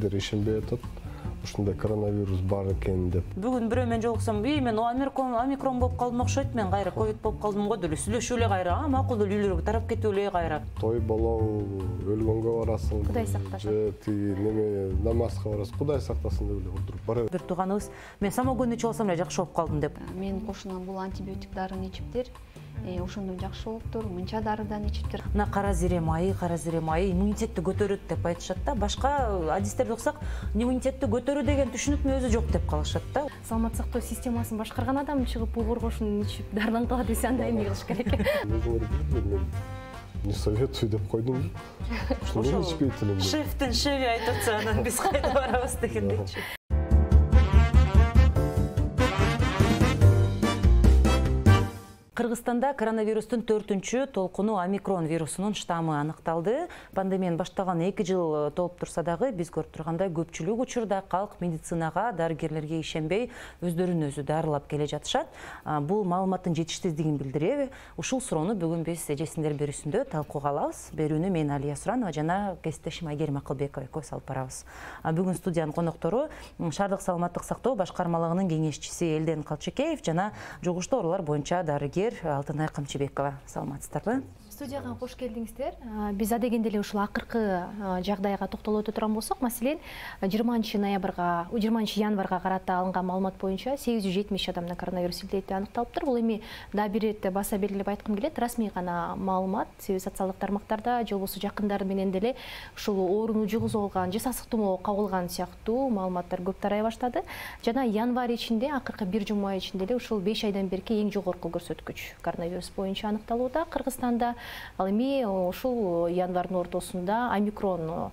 элдер ишенбей атат. Ушундай коронавирус бар экен деп. Бүгүн бирөө менен жолуксам, мен омикрон болуп калдым окшойт, мен кайра ковид болуп калдым го деп сүйлөшүп эле кайра, макул эле үйлөргө тарап кетип эле кайра. Той болобу, өлгөнгө барасың. Кудай сактасын. Же тиги неме намазга барасың, Кудай сактасын деп эле отуруп бара. Бир тууганыбыз, мен самогон ичип алсам эле жакшы болуп калдым деп. Мен кошунам бул антибиотик дарыны ичиптир. Ошондон жакшы болуптур, мынча дарыдан ичиптир. Мына кара зире майы иммунитетти көтөрөт деп айтышат да. Башка адистерди окусак, иммунитетти көтөрүү деген түшүнүктүн өзү жок деп калышат да. Саламат сактоо системасын башкарган адам чыгып бул коргошун ичип дарыланып калат десе анда эмне кылыш керек? Мен не советую деп койдум. Ошо ичпейт элем. Шефтин шеви айтып атса, анан биз кайда барабыз дегендейчи. Кыргызстанда коронавирустун 4-чү толкуну омикрон вирусунун штаммы аныкталды. Пандемиянын башталган 2 жыл толуп турса дагы, биз көрүп тургандай көпчүлүк учурда калк медицинага, дарыгерлерге ишенбей, өздөрүн өзү дарылап келе жатышат. Бул маалыматтын жетишсиздигин билдиреби? Ушул суроону бүгүн биз эжесиндер берүүсүндө талкууга алабыз. Берүүнү мен Алия Суранова жана кесиптешим Айгерим Акылбекова экөөбүз алып барабыз. Бүгүн студиянын коноктору шаардык саламаттык сактоо башкармалыгынын кеңешчиси Элден Калчекеев жана жугуштуу оорулар боюнча дарыгер Алтынай Камчыбекова. Саламатсыздарбы? Студияга кош келдиңиздер. Биз адегенде эле ушул акыркы жагдайга токтолуп өтө турган болсок, маселен, 20 январга карата алынган маалымат боюнча 870 адамда коронавирус илдети аныкталыптыр. Бул эми да бир ирет баса белгилеп айткым келет, расмий гана маалымат. Себеби социалдык тармактарда же болбосо жакындары менен деле ушул ооруну жугузуп алган же сасык тумоо кабылган сыяктуу маалыматтар көп тарай баштады. Жана январь ичинде, акыркы бир жума ичинде эле ушул 5 айдан берки эң жогорку көрсөткүч коронавирус боюнча аныкталууда Кыргызстанда. Ал эми ушул январдын ортосунда омикрон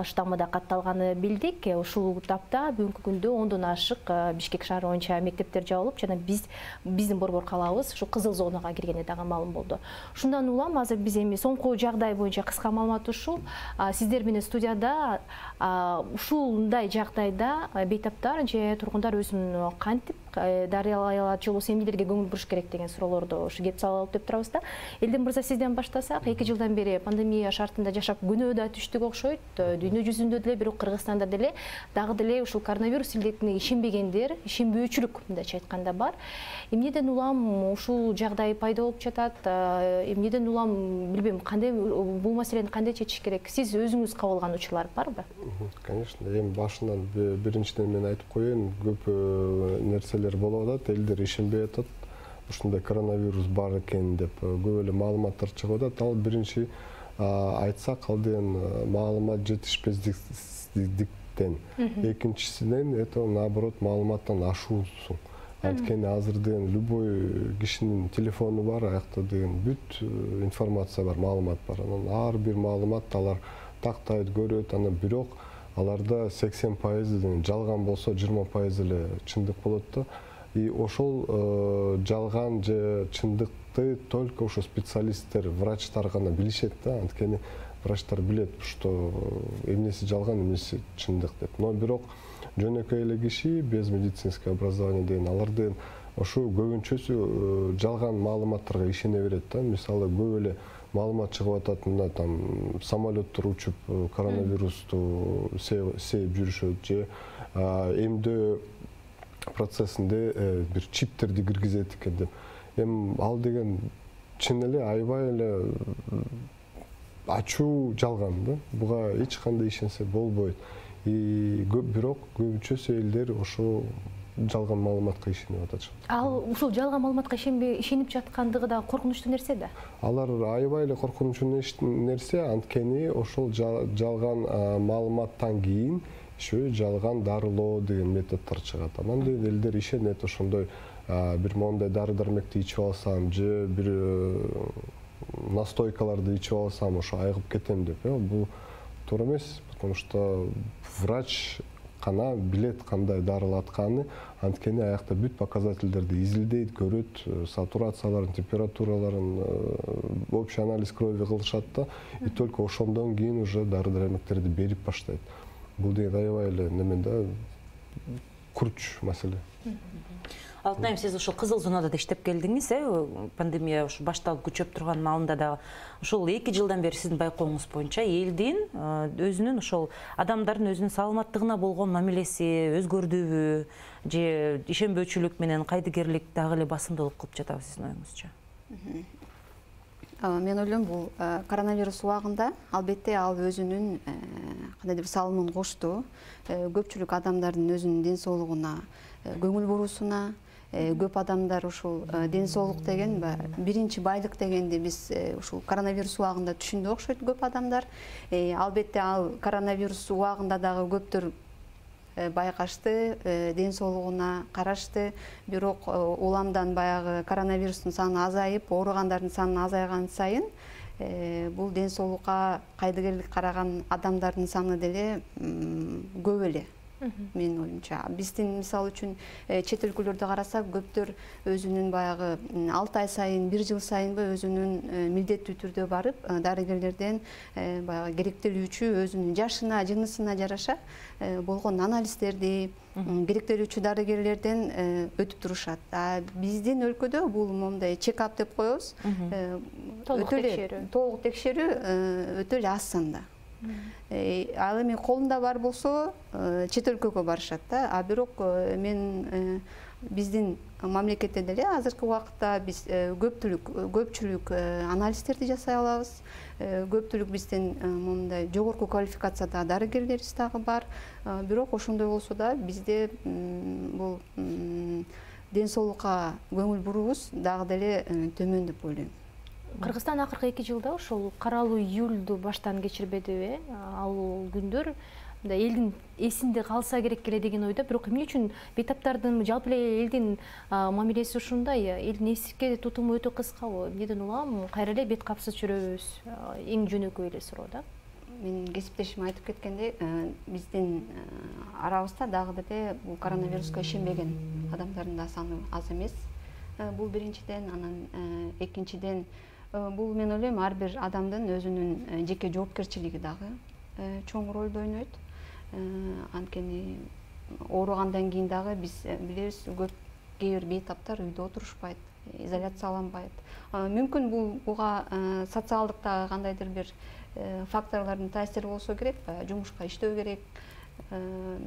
штаммы да катталганы билдик. Ушул тапта бүгүнкү күндө 10дон ашык Бишкек шаары боюнча мектептер жабылып, жана биздин борбор калаабыз ушу кызыл зонага киргени дагы маалым болду. Шундан улам азыр биз эми соңку жагдай боюнча кыска маалымат ушул. Сиздер менен студияда ушундай жагдайда бейтаптар же тургундар өзүн кантип дарыялай алат, же болбосо эмнелерге көңүл буруш керек деген суроолорду ушу кеп салып деп турабыз да. Элден мырза, сизден баштасак, 2 жылдан бери пандемия шартында жашап күнөө да түштүк окшойт. Дүйнө жүзүндө деле, бирок Кыргызстанда деле дагы деле ушул коронавирус илдетине ишенбегендер, ишенбөөчүлүк мындайча айтканда бар. Эмнеден улам ушул жагдай пайда болуп жатат? Эмнеден улам билбейм, кандай бул маселени кандай чечиш керек? Сиз өзүңүз кабыл алган учурлар барбы? Конечно, эми башынан биринчиден мен айтып коеюн, көп нерселер болуп атат, элдер ишенбей атат. Ушундай коронавирус бар экен деп көп эле маалыматтар чыгып атат. Ал биринчи айтсак, ал деген маалымат жетишпестиктен. Экинчисинен это наоборот маалыматтан ашуусу. Анткени азыр деген любой кишинин телефону бар, аякта деген бүт информация бар, маалымат бар. Анан ар бир маалымат алар тактайт, көрөт, анан бирок аларда 80% жалган болсо 20% эле чындык болот да. И ошол жалган же чындыкты только ошо специалисттер, врачтар гана билишет да. Анткени врачтар билет, что эмнеси жалган, эмнеси чындык деп. Но бирок жөнөкөй эле киши без медицинское образование деген алар деген ошо көбүнчөсү жалган маалыматтарга ишене берет да. Мисалы көп эле маалымат чыгып атат, мына там самолеттор учуп коронавирусту сейип жүрүшөт же эмдөө процессинде бир чиптерди киргизет экен деп. Эми ал деген чын эле аябай эле ачуу жалган да. Буга эч кандай ишенсе болбойт. И бирок көбүнчөсү элдер ошо жалган маалыматка ишенип атат. Ал ушул жалган маалыматка ишенип жаткандыгы да коркунучтуу нерсе да. Алар аябай эле коркунучтуу нерсе, анткени ошол жалган маалыматтан кийин еще жалган дарылоо деген методдор чыгат. Анан элдер ишенет, ошондой бир мондай дары-дармекти ичип алсам же бир настойкаларды ичип алсам ошо айыгып кетем деп. Бул туура эмес, потому что врач гана билет кандай дарылатканы, анткени аякта бүт показательдерди изилдейт, көрөт, сатурацияларын, температураларын, общий анализ крови кылышат да, и только ошондон кийин уже дары-дармектерди берип баштайт. Бул деген аябай эле немен да күрч маселе. Алтынайым, сиз ушул кызыл зонада да иштеп келдиңиз, пандемия ушу башталып күчөп турган маалында да. Ушул 2 жылдан бери сиздин байкооңуз боюнча элдин өзүнүн ошол адамдардын өзүнүн саламаттыгына болгон мамилеси өзгөрдүбү, же ишенбөөчүлүк менен кайдыгерлик дагы эле басымдуулук кылып жатабы сиздин оюңузча? Мен ойлойм, бул коронавирус убагында албетте ал өзүнүн кандайдыр бир салымын кошту. Көпчүлүк адамдардын өзүнүн ден соолугуна көңүл буруусуна, көп адамдар ушул ден соолук деген биринчи байлык дегенди биз ушул коронавирус убагында түшүндү окшойт көп адамдар. Албетте ал коронавирус убагында дагы көптөр байкашты, ден соолугуна карашты. Бирок уламдан баягы коронавирустун саны азайып, ооругандардын саны азайган сайын бул ден соолукка кайдыгерлик караган адамдардын саны деле көп эле. Менин оюмча, биздин мисалы үчүн чет өлкөлөрдө карасак, көптөр өзүнүн баягы 6 ай сайын, 1 жыл сайынбы өзүнүн милдеттүү түрдө барып, дарыгерлерден баягы керектелүүчү өзүнүн жашына, жынысына жараша болгон анализдерди керектелүүчү дарыгерлерден өтүп турушат. Биздин өлкөдө бул момундай чек-ап деп коебуз. Толук текшерүү өтө эле аз санда. Ал эми колунда бар болсо чет өлкөгө барышат да. Бирок мен биздин мамлекетте деле азыркы убакытта биз көпчүлүк анализдерди жасай алабыз. Көпчүлүк биздин момундай жогорку квалификациядагы дарыгерлерибиз дагы бар. Бирок ошондой болсо да бизде бул ден соолукка көңүл буруубуз дагы деле төмөн деп ойлойм. Кыргызстан акыркы 2 жылда ошол каралуу июлду баштан кечирбедиби? Ал күндөр элдин эсинде калса керек эле деген ойдо. Бирок эмне үчүн бейтаптардын жалпы эле элдин мамилеси ушундай? Элдин эсикке тутуму өтө кыскабы? Эмнеден улам кайра эле бет капсыз жүрөбүз? Эң жөнөкөй эле суроо да. Менин кесиптешим айтып кеткендей, биздин арабызда дагы деле бул коронавируска ишенбеген адамдардын да саны аз эмес. Бул биринчиден, анан экинчиден бул мен ойлойм ар бир адамдын өзүнүн жеке жоопкерчилиги дагы чоң ролду ойнойт. Анткени ооругандан кийин дагы биз билебиз, көп кээ бир бейтаптар үйдө отурушпайт, изоляцияланбайт. Мүмкүн буга социалдык дагы кандайдыр бир факторлордун таасири болсо керек, жумушка иштөө керек.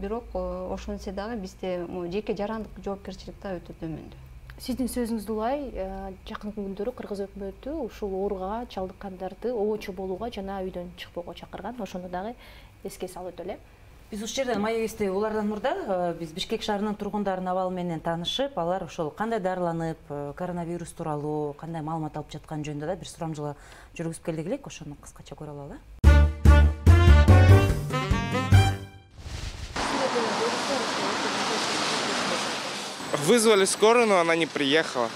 Бирок ошентсе дагы бизде жеке жарандык жоопкерчилик да өтө төмөндө. Сиздин сөзүңүздө улай, жакынкы күндөрү Кыргыз өкмөтү ушул ооруга чалдыккандарды обочо болууга жана үйдөн чыкпоого чакырган. Ошону дагы эске салып өтөлү. Биз ушул жерден маегибизди улардан мурда биз Бишкек шаарынын тургундарынын абалы менен таанышып, алар ошол кандай дарыланып, коронавирус тууралуу кандай маалымат алып жаткан жөнүндө да бир сурамжылоо жүргүзүп келдик элек. Ошону кыскача көрө алалы. Вызвали скорую, но она не приехала.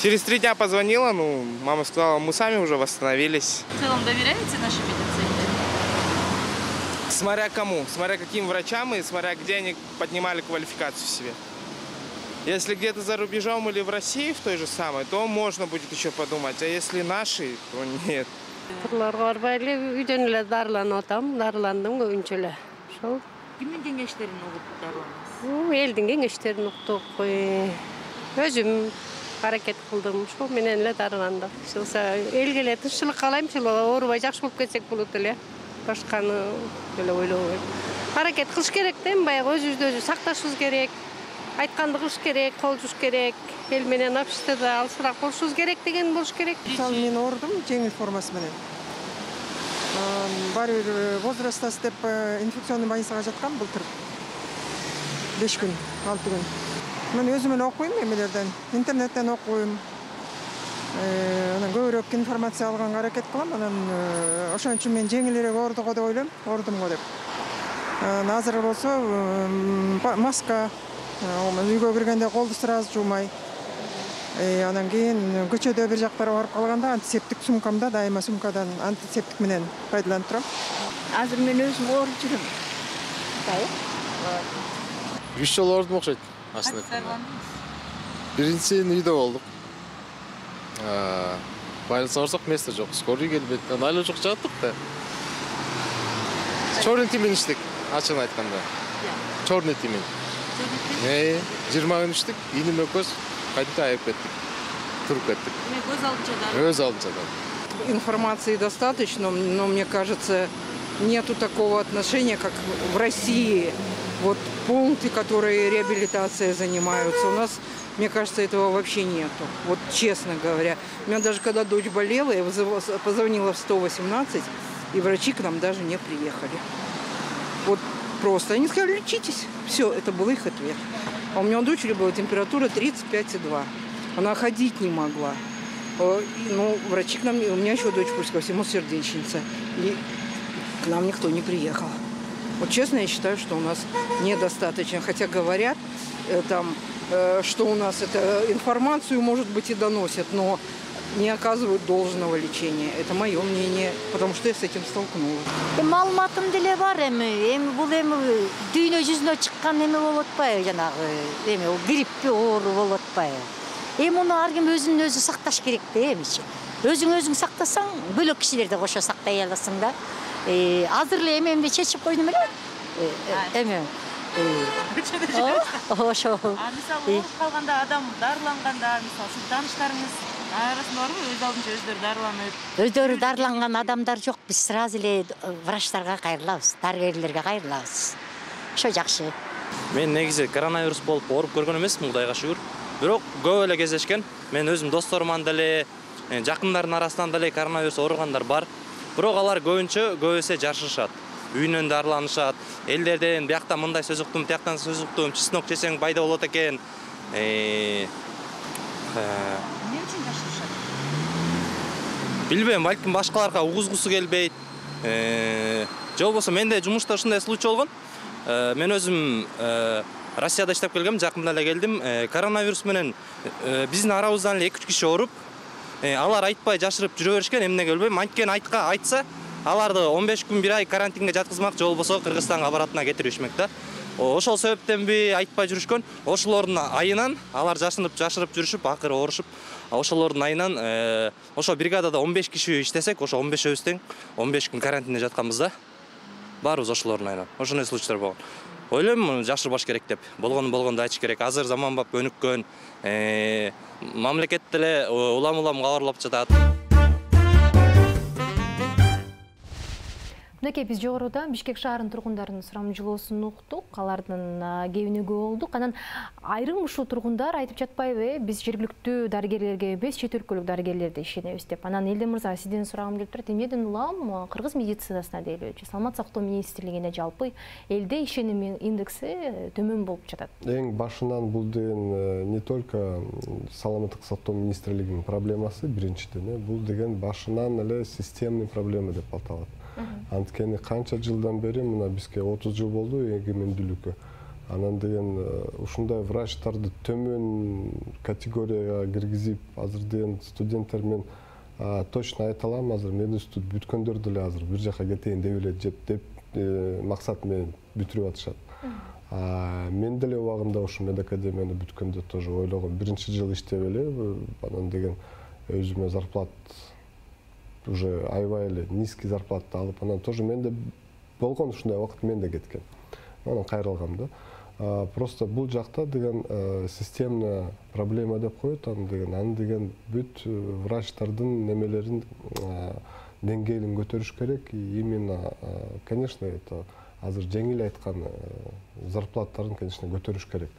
Через 3 дня позвонила, мама сказала, мы сами уже восстановились. В целом доверяете нашей медицине? Смотря кому, смотря каким врачам и смотря где они поднимали квалификацию себе. Если где-то за рубежом или в России в той же самой, то можно будет еще подумать, а если наши, то нет. Үйдөн эле дарыланып атам, дарыландым көбүнчө эле. Ошол. Кимдин кеңештерин угуп дарыландыңыз? Элдин кеңештерин уктук. Өзүм аракет кылдым, ошол менен эле дарыландым. Элге эле тынччылык каалайм, оорубай жакшы болуп кетсек болот эле. Башканы эле ойлобойм. Аракет кылыш керек да, баягы өзүбүздү өзү сакташыбыз керек. Айтканды кылыш керек, кол жууш керек. Эл менен обществода алысыраак болушубуз керек деген болуш керек. Мен оорудум жеңил формасы менен. Баары бир возрастасы деп инфекционный больницага жаткам былтыр. 5 күн, 6 күн. Мен өзүм эле окуйм эмелерден, интернеттен окуйм. Анан көбүрөөк информация алганга аракет кылам. Анан ошон үчүн мен жеңилирээк оорудуго деп ойлойм, оорудумго деп. Азыр болсо маска, үйгө киргенде колду сразу жуумай. Анан кийин көчөдө бир жактарга барып калганда антисептик сумкамда дайыма сумкадан антисептик менен пайдаланып турам. Азыр мен өзүм ооруп жүрөм. 3 жолу оорудум окшойт аslında. Биринчисин үйдө болдук. Больницага барсак место жок, скорый келбейт. Айла жок жаттык да. Чорный тимин иштик, ачыгын айтканда. Чорный тимин. жөнөттү? 20 күн иштик, ийним экөөбүз кайта айып кеттик. Туруп кеттик. Көз алдынча Өз алдынча да. Информации достаточно, но мне кажется, нету такого отношения, как в России. Вот пункты, которые реабилитацией занимаются, у нас, мне кажется, этого вообще нету. Вот честно говоря. У меня даже когда дочь болела, я позвонила в 118, и врачи к нам даже не приехали. Вот просто. Они сказали, лечитесь. Все, это был их ответ. А у меня у дочери была температура 35,2. Она ходить не могла. Ну, врачи к нам, у меня еще дочь по всему сердечница. И к нам никто не приехал. Вот честно, я считаю, что у нас недостаточно. Хотя говорят, что у нас информацию, может быть, и доносят, но не оказывают должного лечения. Это мое мнение, потому что я с этим столкнулась. Маалыматым деле бар эми бул дүйнө жүзүнө чыккан болуп атпайбы, жанагы гриппи оору болуп атпайбы. Муну ар ким өзүн өзү сакташ керек да эмичи. Өзүң сактасаң, бөлөк кишилерди кошо сактай аласың да. Азыр эле эмемди чечип койдум эле. Ошо. Мисалы, ооруп калганда адам дарыланганда, мисалы, сиз тааныштарыңыз арасында барбы, өз алдынча өздөрү дарыланып? Өздөрү дарыланган адамдар жок. Биз сразу эле врачтарга кайрылабыз, дарыгерлерге кайрылабыз. Ошо жакшы. Мен негизи коронавирус болуп ооруп көргөн эмесмин, Кудайга шүгүр. Бирок көп эле кездешкен. Мен өзүм досторуман деле, жакындардын арасынан деле коронавирус ооругандар бар. Бирок алар көп эсе жашырышат. Үйүнөн дарыланышат. Элдерден биякта мындай сөз уктум, тияктан сөз уктум, чеснок жесең пайда болот экен. Эмне үчүн жашырышат? Билбейм, балким башкаларга угузгусу келбейт. Же болбосо менде жумушта ушундай случай болгон. Мен өзүм Россияда иштеп келгем, жакында эле келдим. Коронавирус менен биздин арабыздан эле 2-3 киши ооруп, алар айтпай жашырып жүрө беришкен, эмнеге билбейм. Анткени айтса, аларды 15 күн 1 ай карантинге жаткызмак, же болбосо Кыргызстанга баратына кетиришмек да. Ошол себептенби айтпай жүрүшкөн. Ошолордун айынан алар жашырып жүрүшүп, акыры оорушуп, ошолордун айынан ошо бригадада 15 киши иштесек, ошо 15өбүз тең 15 күн карантинде жатканбыз да. Баарыбыз ошолордун айынан. Ошондой случайлар болгон. Ойлойм, жашырбаш керек деп. Болгону айтыш керек. Азыр заманбап өнүккөн, мамлекет деле улам кабарлап жатат. Мынакей биз жогоруда Бишкек шаарынын тургундарынын сурамжылоосун уктук, алардын кебинигүү болдук. Анан айрым ушул тургундар айтып жатпайбы, биз жергиликтүү дарыгерлерге эмес, чет өлкөлүк дарыгерлерге ишенебиз деп. Анан Элден мырза, сизден сурагым келип турат. Эмнеден улам кыргыз медицинасына дейличи, Саламат сактоо министрлигине жалпы элде ишеним индекси төмөн болуп жатат. Эң башынан бул деген не только саламаттык сактоо министрлигинин проблемасы, биринчиден, бул деген башынан эле системный проблема деп аталат. Анткени канча жылдан бери, мына бизге 30 жыл болду эгемендүүлүккө. Анан деген ушундай врачтарды төмөн категорияга киргизип, азыр деген студенттер мен точно айта алам, азыр мединститут бүткөндөр деле азыр бир жака кетейин деп эле деп максат менен бүтүрүп атышат. Мен деле убагында ушу медакадемияны бүткөндө тоже ойлогом, биринчи жыл иштеп эле, анан деген өзүмө зарплат уже аябай эле низкий зарплата алып, анан тоже менде болгон ушундай убакыт мен да кеткен. Анан кайрылгам да. Просто бул жакта деген системный проблема деп коет, аны деген бүт врачтардын немелерин деңгээлин көтөрүш керек. И именно, конечно, это азыр жеңил айткан зарплаттарын, конечно, көтөрүш керек.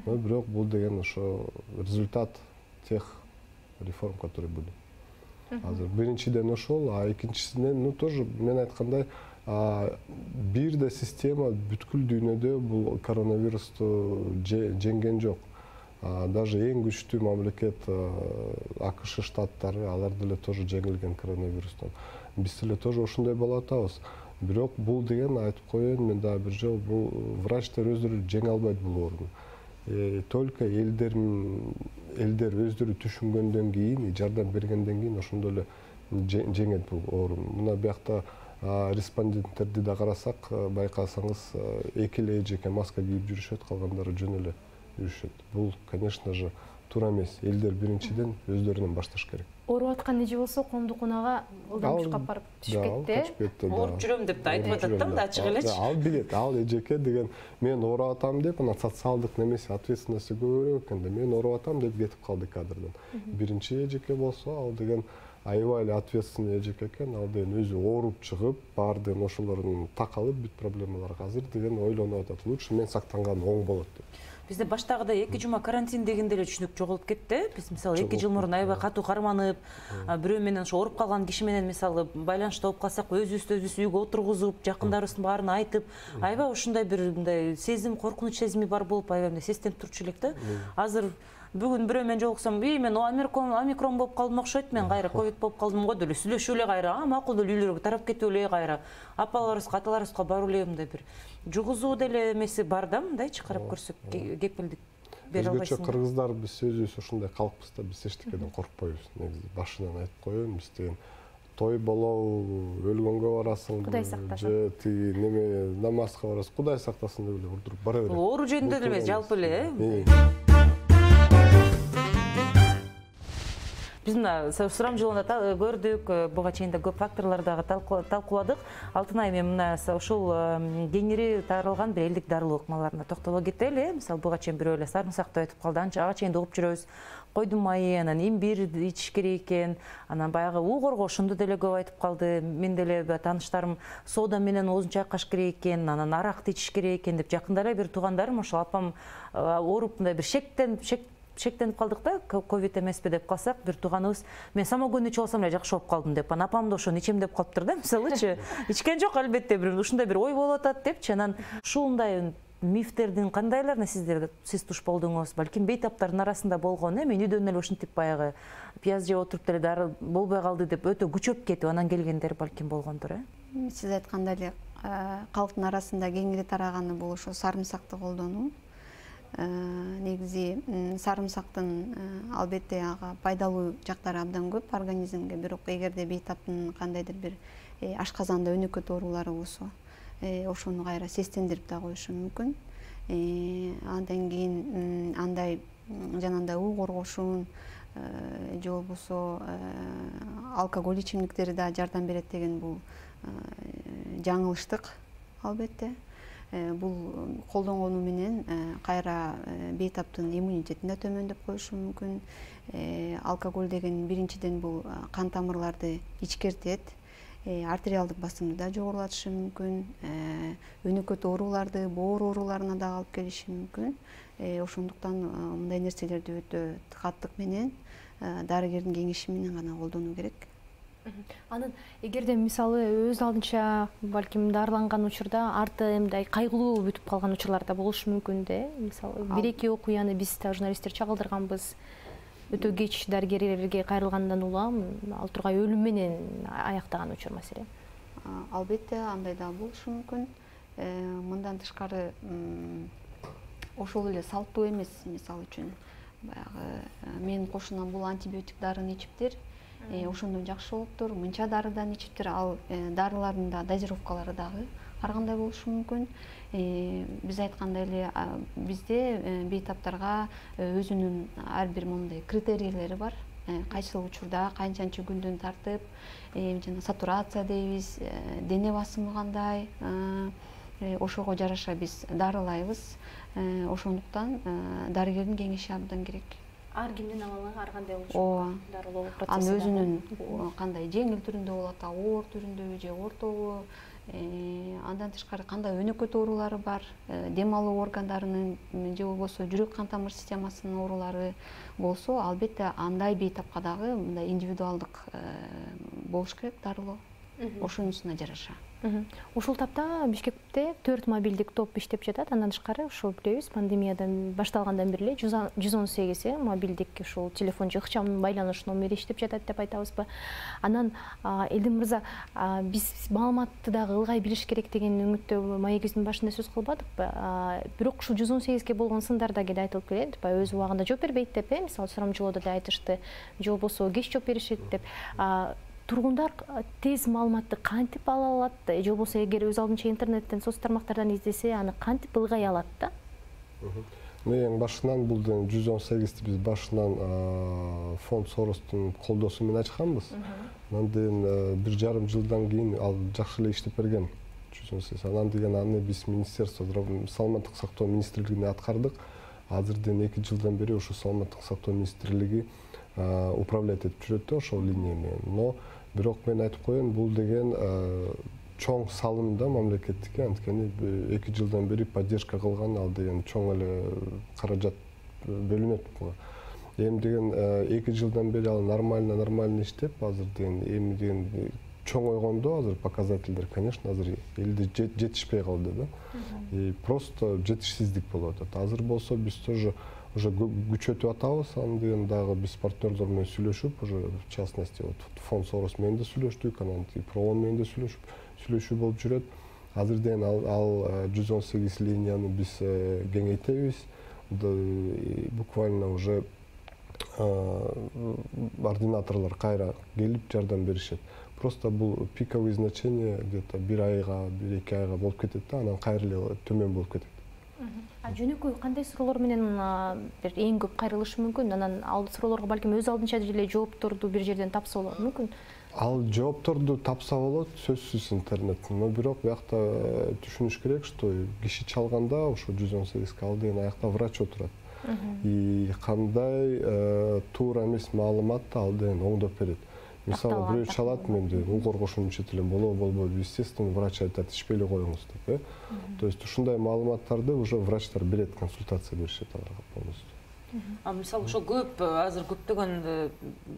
Но бирок бул деген ошо результат тех реформ, которые были. Азыр биринчиден ошол, экинчисинен, тоже мен айткандай, бир да система бүткүл дүйнөдө бул коронавирусту жеңген жок. Даже эң күчтүү мамлекет АКШ штаттары, алар деле тоже жеңилген коронавирустан. Биз деле тоже ошондой болуп атабыз. Бирок бул деген, айтып коеюн мен дагы бир жолу, бул врачтар өздөрү жеңе албайт бул ооруну. Только элдер өздөрү түшүнгөндөн кийин, жардам бергенден кийин ошондо эле жеңет бул ооруну. Мына биякта респонденттерди да карасак, байкасаңыз, эки эле эжеке маска кийип жүрүшөт, калгандары жөн эле жүрүшөт. Бул, конечно же, туура эмес. Элдер биринчиден өздөрүнөн башташ керек. Ооруп аткан эже болсо коомдук унага ылдам учкап барып түшүп кетти. Ооруп жүрөм деп да айтып атат да, мында ачык элечи. Ал билет, ал эжеке деген мен ооруп атам деп, ана социалдык немеси ответственности көбүрөөк экен да. Мен ооруп атам деп кетип калды кадрдан. Биринчи эжеке болсо, ал деген аябай эле ответственный эжеке экен. Ал деген өзү ооруп чыгып, баардыгын ошолордун такалып бүт проблемаларга азыр деген ойлонуп атат. Лучше мен сактанганым оң болот деп. Бизде баштагыда 2 жума карантин дегенде эле түшүнүк жоголуп кетти. Биз мисалы 2 жыл мурун аябай катуу карманып, бирөө менен ошо ооруп калган киши менен мисалы байланышта болуп калсак, өзүбүз үйгө отургузуп, жакындарыбыздын баарын айтып, аябай ушундай бир мындай сезим, коркунуч сезими бар болуп, аябай мындай сестенип турчу элек да. Азыр бүгүн бирөө менен жолуксам, мен омикрон болуп калдым окшойт, мен кайра ковид болуп калдым го деп эле сүйлөшүп эле кайра, макул деле үйлөргө тарап кетип эле кайра. Апаларыбызга, аталарыбызга барып эле мындай бир жугузуу деле эмеси бар да, мындайчы карап көрсөк, кепилдик бере албайсың. Өзгөчө кыргыздар биз өзүбүз ушундай калкпыз да, биз эчтекеден коркпойбуз. Негизи башынан айтып коеюн, биз деген той болобу, өлгөнгө барасың, Кудай сактасын. же тиги неме намазга барасың, Кудай сактасын деп эле урдуруп бара берет. Оору жөнүндө эле эмес, жалпы эле. Биз мына сурамжылоонда көрдүк, буга чейин да көп факторлорду дагы талкууладык. Алтынай, мен мына ушул кеңири таралган бир элдик дарылуу ыкмаларына токтоло кетели. Мисалы буга чейин бирөө эле сарымсак деп айтып калды, ага чейин угуп жүрөбүз. Койдун майы, анан имбир ичиш керек экен, анан баягы уу коргошунду деле көп айтып калды. Мен деле тааныштарым соода менен оозун чайкаш керек экен, анан аракты ичиш керек экен деп жакында эле бир туугандарым ошол апам ооруп мындай бир шектенип калдык да, ковид эмеспи деп калсак, бир тууганыбыз мен самогон ичип алсам эле жакшы болуп калдым деп, анан апам да ошону ичем деп калыптыр да, мисалычы. Ичкен жок, албетте, бир ушундай бир ой болуп атат депчи. Анан ушундай мифтердин кандайларына сиз туш болдуңуз? Балким бейтаптардын арасында болгон, мен үйдөн эле ушинтип баягы пияз жеп отуруп деле дары болбой калды деп өтө күчөп кетип анан келгендер балким болгондур, Сиз айткандай эле калктын арасында кеңири тараганы бул ошо сарымсакты колдонуу. Негизи сарымсактын албетте ага пайдалуу жактары абдан көп организмге, бирок эгерде бейтаптын кандайдыр бир ашказанда өнөкөт оорулары болсо, ошону кайра сестендирип да коюшу мүмкүн. Андан кийин андай жанагындай уу коргошун же болбосо алкоголь ичимдиктери да жардам берет деген бул жаңылыштык албетте. Бул колдонгону менен кайра бейтаптын иммунитетин да төмөндөп коюшу мүмкүн. Алкоголь деген биринчиден бул кан тамырларды ичкертет, артериалдык басымды да жогорулатышы мүмкүн, өнөкөт ооруларды, боор ооруларына да алып келиши мүмкүн. Ошондуктан мындай нерселерди өтө каттык менен дарыгердин кеңеши менен гана колдонуу керек. Анын эгерде мисалы өз алдынча балким дарыланган учурда арты мындай кайгылуу бүтүп калган учурлар да болушу мүмкүн да. Мисалы бир-эки окуяны биз да журналисттер чагылдырганбыз. Өтө кеч дарыгерлерге кайрылгандан улам ал тургай өлүм менен аяктаган учур маселе. Албетте андай да болушу мүмкүн. Мындан тышкары ошол эле салттуу эмес, мисалы үчүн баягы менин кошунам бул антибиотик дарыны ичиптир. Ошондон жакшы болуптур, мынча дарыдан ичиптир. Ал дарылардын да дозировкалары дагы ар кандай болушу мүмкүн. Биз айткандай эле бизде бейтаптарга өзүнүн ар бир мондай критерийлери бар. Кайсыл учурда канчанчы күндөн тартып, жана сатурация дейбиз, дене басымы кандай, ошого жараша биз дарылайбыз. Ошондуктан дарыгердин кеңеши абдан керек. Ар кимдин абалы ар кандай болушу дарылоо процесси. Анын өзүнүн кандай жеңил түрүндө болот, оор түрүндөбү же ортобу, андан тышкары кандай өнөкөт оорулары бар, дем алуу органдарынын же болбосо жүрөк кан тамыр системасынын оорулары болсо, албетте андай бейтапка дагы мындай индивидуалдык болуш керек дарылоо. Ошонусуна жараша. Ушул тапта Бишкекте 4 мобилдик топ иштеп жатат. Андан тышкары ушул билебиз, пандемиядан башталгандан бери 118 мобилдик ушул телефон же ыкчам байланыш номери иштеп жатат деп айтабызбы. Анан Элдин мырза, биз маалыматты дагы ылгай билиш керек деген үмүттө маегибиздин башында сөз кылбадыкпы? Бирок ушул 118ге болгон сындар да кээде айтылып келет. Өз убагында жооп бербейт деп, мисалы сурамжылоодо да айтышты, же болбосо кеч жооп беришет деп. Тургундар тез маалыматты кантип ала алат, же болбосо эгер өз алдынча интернеттен, соц тармактардан издесе, аны кантип ылгай алат да? Мен башынан бул 118 биз башынан фонд Соростун колдоосу менен ачканбыз. Анан 1,5 жылдан кийин ал жакшы эле иштеп берген. 118. Анан деген аны биз министерство саламаттык сактоо министрлигине аткардык. Азырден 2 жылдан бери ошо саламаттык сактоо министрлиги управлять этип жүрөт ошол линия менен. Но бирок мен айтып коеюн, бул деген чоң салым да мамлекеттикке, анткени 2 жылдан бери поддержка кылган ал деген чоң эле каражат бөлүнөт буга. Эми деген 2 жылдан бери ал нормально иштеп, азыр деген эми деген чоңойгондо азыр показательдер, конечно, азыр элде жетишпей калды да. И просто жетишсиздик болуп атат. Азыр болсо биз тоже уже күчөтүп атабыз, аны деген дагы биз партнерлор менен сүйлөшүп, уже в частности вот фонд Сорос менен да сүйлөштүк, анан Проон менен да сүйлөшүү болуп жүрөт. Азыр деген ал 118 линияны биз кеңейтебиз. Буквально уже ординаторлор кайра келип жардам беришет. Просто бул пиковый значение где-то 1 айга, 1-2 айга болуп кетет да, анан кайра эле төмөн болуп кетет. Жөнөкөй кандай суроолор менен бир эң көп кайрылышы мүмкүн? Анан ал суроолорго балким өз алдынча деле жоопторду бир жерден тапса болот мүмкүн? Ал жоопторду тапса болот, сөзсүз интернеттен. Но бирок биякта түшүнүш керек, что киши чалганда ошо 118 ал деген аякта врач отурат. И кандай туура эмес маалымат ал деген оңдоп берет. Мисалы бирөө чалат, мен ул коргошунун ичет элем, болбойбу, естественно, врач айтат, ичпей эле коюңуз деп. То есть ушундай маалыматтарды уже врачтар берет, консультация беришет аларга полностью. Мисалы ошо көп азыр көптөгөн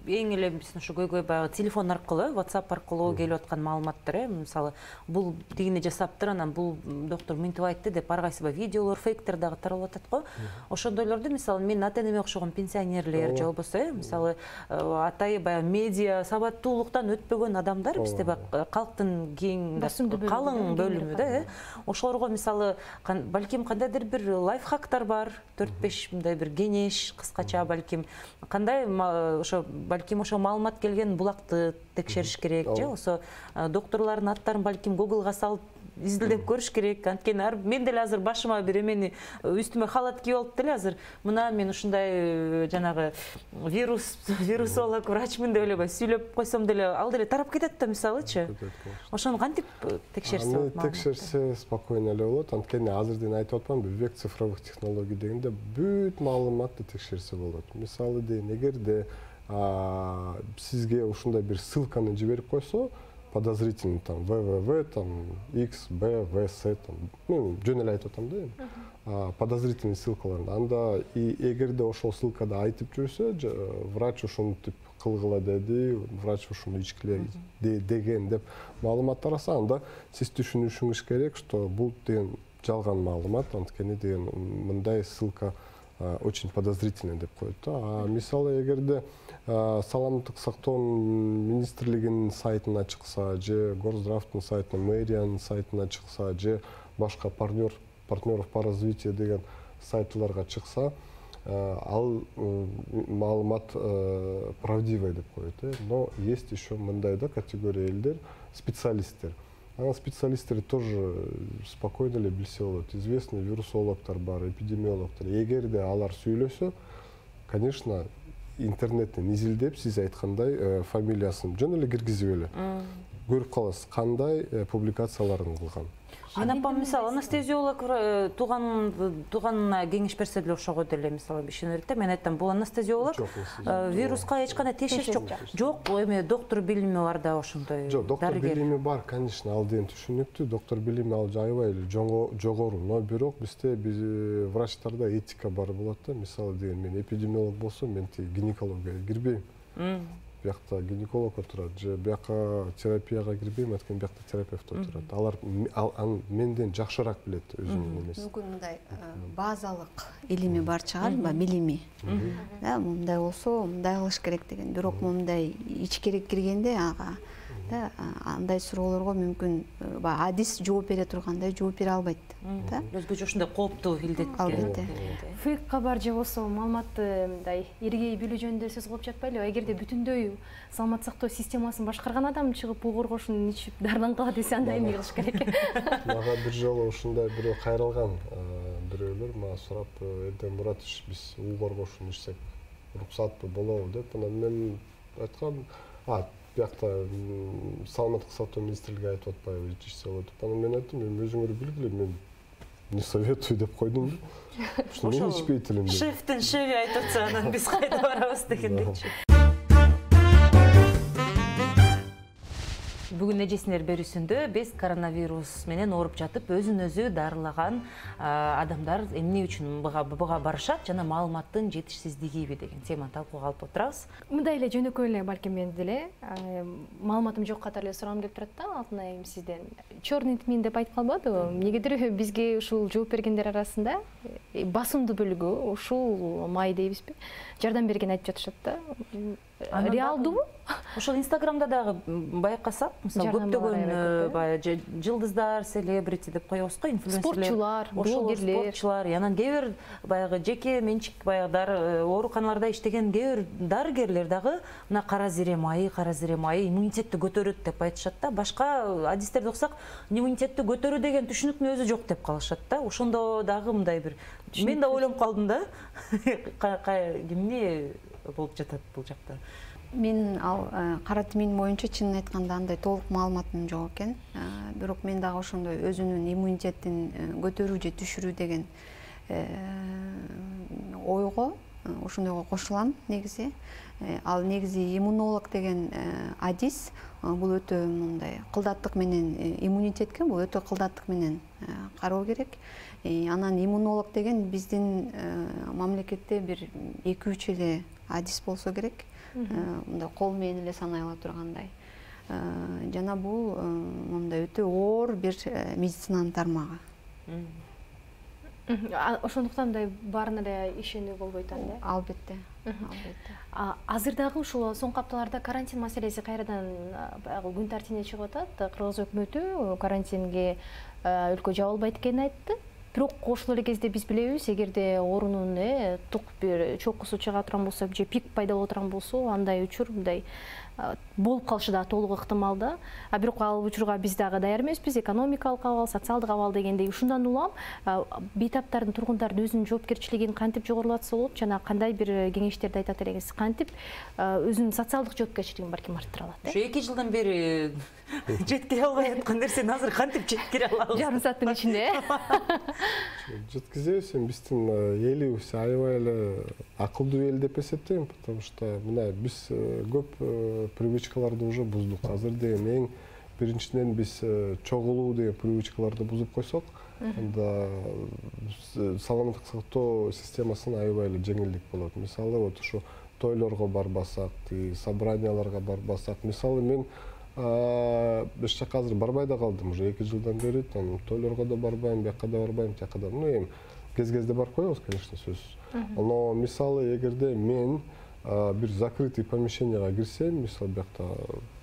эң эле биздин ошо көйгөй баягы телефон аркылуу, WhatsApp аркылуу келип аткан маалыматтар, мисалы бул тигине жасаптыр, анан бул доктор мынтип айтты деп ар кайсы видеолор, фейктер дагы таралып атат го. Ошондойлорду мисалы мен ата-энеме окшогон пенсионерлер же болбосо мисалы атай баягы медиа сабаттуулуктан өтпөгөн адамдар бизде калктын кең калың бөлүмү да, ошолорго мисалы балким кандайдыр бир лайфхактар бар, 4-5 мындай бир кыскача балким кандай ошо балким ошо маалымат келген булакты текшериш керек же болсо докторлордун аттарын балким Google'га салып изилдеп көрүш керек. Анткени мен деле азыр башыма бир эмени үстүмө халат кийип алып деле азыр мына мен ушундай жанагы вирусолог врачмын деп эле сүйлөп койсом деле ал деле тарап кетет да мисалычы. Ошону кантип текшерсе болот? Аны текшерсе спокойно эле болот. Анткени азырден айтып атпаймынбы, век цифровых технологий дегенде бүт маалыматты текшерсе болот. Мисалы дейин, эгерде сизге ушундай бир ссылканы жиберип койсо, подозрительный там www там xbvs там мен жөн эле айтып атам да, подозрительный ссылкаларды анда эгерде ошол ссылкада айтып жүрсө врач ушинтип кылгыла деди, врач ушуну ичкиле деген деп маалымат тараса, анда сиз түшүнүшүңүз керек, что бул деген жалган маалымат, анткени деген мындай ссылка очень подозрительный деп коет да. Мисалы эгерде саламаттык сактоонун министрлигинин сайтына чыкса же Горздравдын сайтына, мэриянын сайтына чыкса же башка партнеров по развитию деген сайтларга чыкса, ал маалымат правдивый деп коет. Но есть еще мындай да категория элдер, специалисттер. Специалисттер тоже спокойно эле билсе болот. Известный вирусологдор бар, эпидемиологдор. Эгерде алар сүйлөсө, конечно, интернеттен изилдеп, сиз айткандай фамилиясын жөн эле киргизип эле көрүп каласыз, кандай публикацияларын кылган. Мен апам мисалы анестезиолог тууганына кеңеш берсе деле ошого деле мисалы ишенет да. Мен айттым, бул анестезиолог вируска эч кандай тиешеси жок. Жок, эми доктор билими бар да ошондой. Жок, доктор билими бар, конечно, ал деген түшүнүктүү. Доктор билими ал аябай эле жогору, но бирок бизде врачтарда этика бар болот да. Мисалы деген мен эпидемиолог болсом, мен гинекологияга кирбейм. Биякта гинеколог отурат, же бияка терапияга кирбейм, анткени биякта терапевт отурат. Алар менден жакшыраак билет өзүнүн эмесин. Мүмкүн мындай базалык илими бар чыгарбы, билими. Да, мындай болсо, мындай кылыш керек деген. Бирок мындай ичкерек киргенде ага да, андай суроолорго мүмкүн адис жооп бере тургандай жооп бере албайт. Да? Өзгөчө ушундай кооптуу илдетке. Албетте. Фейк кабар же болсо маалыматты мындай иргей билүү жөнүндө сөз кылып жатпайлыбы? Эгерде бүтүндөй саламаттык сактоо системасын башкарган адам чыгып бул коргошун ичип дардан кала десе анда эмне кылыш керек? Мага бир жолу ушундай бирөө кайрылган. бирөөлөр мага сурап, Эрден Муратович, биз уу коргоушуну ичсек уруксатпы болобу деп, анан мен айткам, биякта саламаттык сактоо министрлиги айтып атпайбы ичсе болот деп. Анан мен айттым, өзүңөр билгиле, мен не советую деп койдум. Мен ичпейт элем. Шефтин шеви айтып атса, анан биз кайда барабыз дегендечи. Бүгүн эжесинер берүүсүндө биз коронавирус менен ооруп жатып, өзүн өзү дарылаган адамдар эмне үчүн буга барышат жана маалыматтын жетишсиздигиби деген теманы талкууга алып отурабыз. Мындай эле жөнөкөй эле балким мен деле маалыматым жок катары эле сурагым келип турат да, Алтынайым сизден. Чёрный тмин деп айтып калбадыбы? Эмнегедир бизге ушул жооп бергендер арасында басымдуу бөлүгү ушул май дейбизби? Жардам берген айтып жатышат да. Реалдуубу? Ошол Инстаграмда дагы байкасак, мисалы көптөгөн жылдыздар, селебрити деп коебуз го, инфлюенсерлер, спортчулар, анан кээ бир баягы жеке менчик баягы ооруканаларда иштеген кээ бир дарыгерлер дагы мына кара зире майы иммунитетти көтөрөт деп айтышат да. Башка адистерди окусак, иммунитетти көтөрүү деген түшүнүктүн өзү жок деп калышат да. Ошондо дагы мындай бир мен да ойлонуп калдым да. Эмне болуп жатат бул жакта? Мен ал кара тмин боюнча чынын айтканда андай толук маалыматым жок экен. Бирок мен дагы ошондой өзүнүн иммунитетин көтөрүү же түшүрүү деген ойго, ошондойго кошулам негизи. Ал негизи иммунолог деген адис бул өтө мындай кылдаттык менен иммунитетке бул өтө кылдаттык менен кароо керек. Анан иммунолог деген биздин мамлекетте бир 2-3 эле адис болсо керек. Мындай кол менен эле санай ала тургандай. Жана бул мындай өтө оор бир медицинанын тармагы. Ошондуктан да баарына эле ишенүү болбойт анда. Албетте. Азыр дагы ушул соңку апталарда карантин маселеси кайрадан күн тартибине чыгып атат. Кыргыз өкмөтү карантинге өлкө жабылбайт экенин айтты. Бирок ошол эле кезде биз билебиз, эгерде оорунун тук бир чокусу чыга турган болсо же пик пайда боло турган болсо, андай учур мындай болуп калышы да толук ыктымал да. Бирок ал учурга биз дагы даяр эмеспиз, экономикалык абал, социалдык абал дегендей. Ушундан улам бейтаптардын, тургундардын өзүнүн жоопкерчилигин кантип жогорулатса болот жана кандай бир кеңештерди айтат элеңиз? Кантип өзүнүн социалдык жоопкерчилигин балким арттыра алат? Ушу 2 жылдан бери жеткире албай аткан нерсени азыр кантип жеткире алабыз? Жарым сааттын ичинде. Жеткизебиз, биздин элибиз аябай эле акылдуу эл деп эсептейм, потому что мына биз көп привычкаларды уже буздук. Азыр деген эң биринчиден биз чогулуу деген привычкаларды бузуп койсок, анда саламаттык сактоо системасына аябай эле жеңилдик болот. Мисалы вот ушу тойлорго барбасак, собранияларга барбасак, мисалы мен эч жака азыр барбай да калдым, уже 2 жылдан бери тойлорго да барбайм, бияка да барбайм, тияка да. Эми кез-кезде барып коебуз, конечно, сөзсүз. Но мисалы эгерде мен бир закрытый помещенияга кирсем, мисалы биякта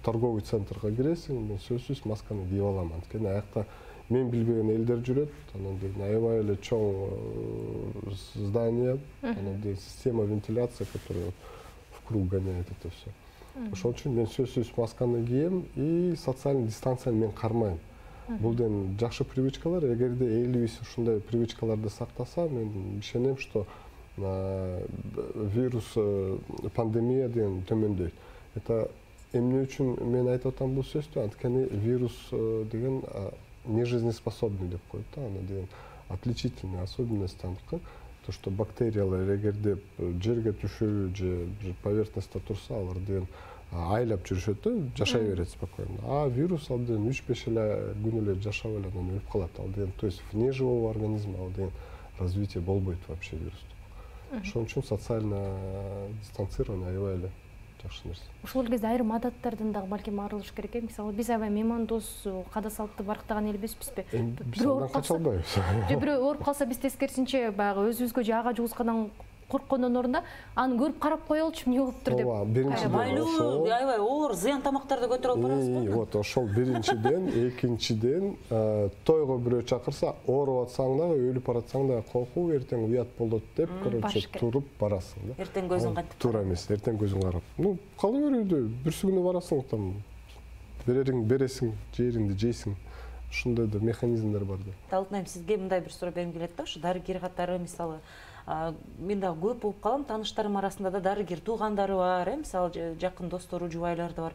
торговый центрга киресиң, мен сөзсүз масканы кийип алам. Анткени аякта мен билбеген элдер жүрөт, анан деген аябай эле чоң здание, анан деген система вентиляции, которая вкруг гоняет это все. Ошол үчүн мен сөзсүз масканы кийем и социальный дистанцияны мен кармайм. Бул деген жакшы привычкалар. Эгерде элибиз ушундай привычкаларды сактаса, мен ишенем, что вирус, пандемия деген төмөндөйт. Это эмне үчүн мен айтып атам бул сөздү? Анткени вирус деген нежизнеспособный деп коет да, аны деген отличительный особенность аныкы. То, что бактериялар эгерде жерге түшүрү же поверхностьта турса, алар деген айлап жүрүшөт да, жашай берет спокойно. А вирус ал деген 3-5 эле күн эле жашап эле анан өлүп калат. Ал деген, то есть вне живого организма ал деген развитие болбойт вообще вирусту. Ошон үчүн социально дистанцирование аябай эле жакшы нерсе. Ушул кезде айрым адаттардан дагы балким арылыш керек. Мисалы биз аябай меймандос, када салтты барктаган эл эмеспизби? Биз андан кача албайбыз. Же бирөө ооруп калса биз тескерисинче баягы өзүбүзгө же ага жугузгадан корккондон ордуна аны көрүп карап коелучу, эмне болуптур деп. Майлуу, аябай оор зыян тамактарды көтөрүп алып барабыз го. Вот ошол биринчиден, экинчиден тойго бирөө чакырса, ооруп атсаң дагы, өлүп баратсаң дагы коркуу, эртең уят болот деп, короче, туруп барасың да. Эртең көзүң кантип? Туура эмес, эртең көзүң карап. Кала берүүдө бүрсү күнү барасың, там берерин бересиң, жериңди жейсиң. ушундай да механизмдер бар да. Алтынайым, сизге мындай бир суроо бергим келет да, ушу дарыгер катары мисалы мен дагы көп болуп калам, тааныштарым арасында да дарыгер туугандары бар, мисалы жакын достору, жубайлары да бар.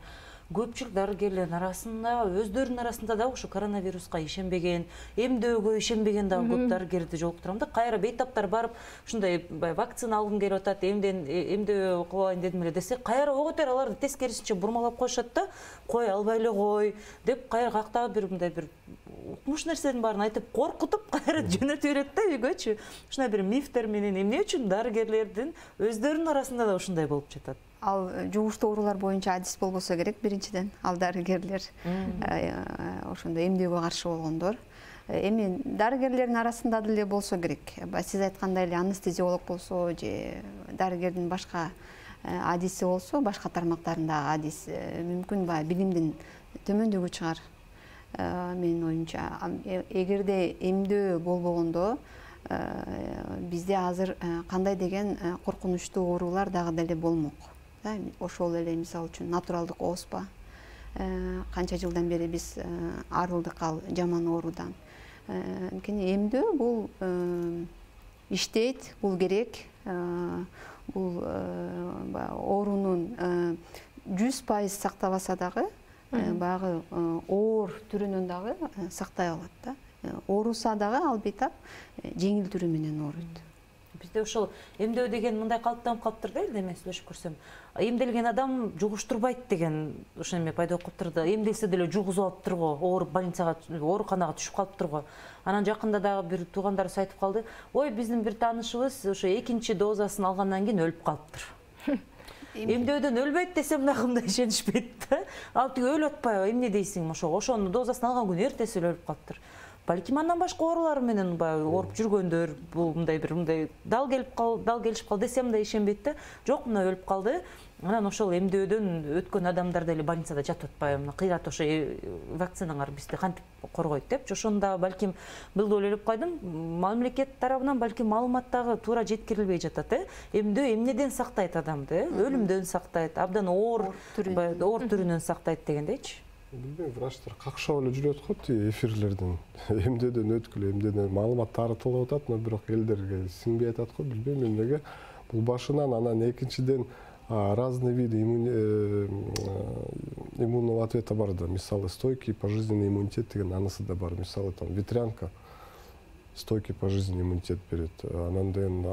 Көпчүлүк дарыгерлердин арасында өздөрүнүн арасында да ушу коронавируска ишенбеген, эмдөөгө ишенбеген дагы көп дарыгерди жолуктурам да. Кайра бейтаптар барып ушундай вакцина алгым келип атат, эмдөө кылайын дедим эле десе, кайра оготер аларды тескерисинче бурмалап коюшат да, кой албай эле кой деп кайра каяктагы бир мындай бир укмуш нерсенин баарын айтып коркутуп кайра жөнөтүп берет да үйгөчү. Ушундай бир мифтер менен эмне үчүн дарыгерлердин өздөрүнүн арасында да ушундай болуп жатат? Ал жугуштуу оорулар боюнча адис болбосо керек биринчиден. Ал дарыгерлер ошондой эмдөөгө каршы болгондор. Эми дарыгерлердин арасында деле болсо керек. Сиз айткандай эле анестезиолог болсо же дарыгердин башка адиси болсо, башка тармактарындагы адис мүмкүн билимдин төмөндүгү чыгар. Менин оюмча, эгерде эмдөө болбогондо бизде азыр кандай деген коркунучтуу оорулар дагы деле болмок. Ошол эле мисалы үчүн натуралдык оспа. Канча жылдан бери биз арылдык ал жаман оорудан. Анткени эмдөө бул иштейт, бул керек. Бул оорунун 100% сактабаса дагы баягы оор түрүнөн дагы сактай алат да. Ооруса дагы ал бейтап жеңил түрү менен ооруйт. Бизде ошол эмдөө деген мындай калыптанып калыптыр да, эле мен сүйлөшүп көрсөм. Эмделген адам жугуштурбайт деген ошо эме пайда болуп калыптыр. Эмделсе деле жугузуп алыптыр го, ооруп больницага, ооруканага түшүп калыптыр го. Анан жакында дагы бир туугандарыбыз айтып калды. Ой, биздин бир таанышыбыз ошо экинчи дозасын алгандан кийин өлүп калыптыр. Эмдөөдөн өлбөйт десем дагы мындай ишенишпейт да. Ал тиги өлүп атпайбы, эмне дейсиң, ошону дозасын алган күнү эртеси эле өлүп калыптыр. Балким андан башка оорулар менен ооруп жүргөндөр, бул мындай бир мындай дал келишип калды десем да ишенбейт да. Жок, мына өлүп калды. Анан ошол эмдөөдөн өткөн адамдар деле больницада жатып атпайбы? Кыйрат ошо вакцинаңар бизди кантип коргойт депчи. Ошону да балким бул ойлоп койдум. Мамлекет тарабынан балким маалымат дагы туура жеткирилбей жатат. Эмдөө эмнеден сактайт адамды? Өлүмдөн сактайт, абдан оор түрүнөн сактайт дегендейчи. Билбейм, врачтар какшап эле жүрөт го эфирлерден. Эмдөөдөн өткүлө, эмдөөдөн маалымат таратылып атат, но бирок элдерге сиңбей атат го, билбейм эмнеге. Бул башынан, анан экинчиден разные виды иммунного ответа бар да. Мисалы, стойкий пожизненный иммунитет деген анысы да бар. Мисалы, там ветрянка стойкий пожизненный иммунитет берет. Анан деген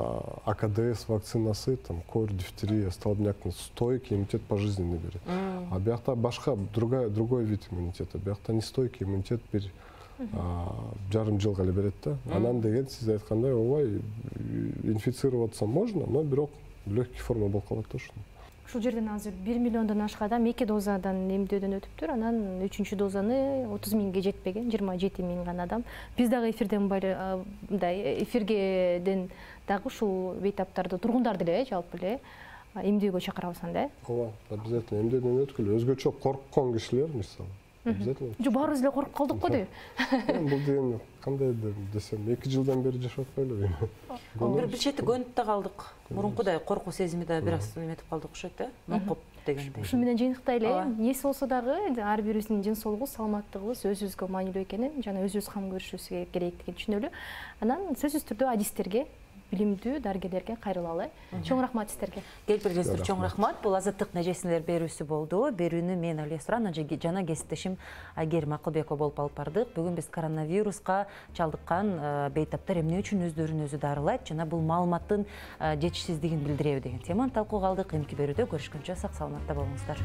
АКДС вакцинасы, там кор, дифтерия, столбняктын стойкий иммунитет пожизненный берет. А биякта башка другой вид иммунитета. Биякта нестойкий иммунитет бир жарым жылга эле берет да. Анан деген сиз айткандай, ооба инфицироваться можно, но бирок легкий форма болуп калат да ушуну. Ушул жерден азыр 1 миллиондон ашык адам 2 дозадан эмдөөдөн өтүптүр. Анан 3-чү дозаны 30 миңге жетпеген, 27 миң гана адам. Биз дагы эфирден мындай эфиргеден дагы ушул бейтаптарды тургундар деле жалпы эле эмдөөгө чакырабыз анда. Ооба, обязательно эмдөөдөн өткүлө. Өзгөчө корккон кишилер мисалы. Обязательно. Жок, баарыбыз эле коркуп калдык го дейм. Бул деген кандай десем, 2 жылдан бери жашап атпайлыбы? Бир чети көнүп да калдык. Мурункудай коркуу сезими да бир аз эметип калдык окшойт да. Нокоп дегендей. Ушу менен жыйынтыктайлы, эмнеси болсо дагы ар бирибиздин ден соолугу, саламаттыгыбыз өзүбүзгө маанилүү экенин, жана өзүбүз кам көрүшүбүз керектигин түшүнөлү. Анан сөзсүз түрдө адистерге, билимдүү дарыгерлерге кайрылалы. Чоң рахмат сиздерге. Келип келгениңиз чоң рахмат. Бул азаттык нежесинер берүүсү болду. Берүүнү мен Алия Суран жана кесиптешим Айгерим Акылбекова болуп алып бардык. Бүгүн биз коронавируска чалдыккан бейтаптар эмне үчүн өздөрүн өзү дарылайт жана бул маалыматтын жетишсиздигин билдиреби деген теманы талкууга алдык. Эмки берүүдө көрүшкөнчө сак саламатта болуңуздар.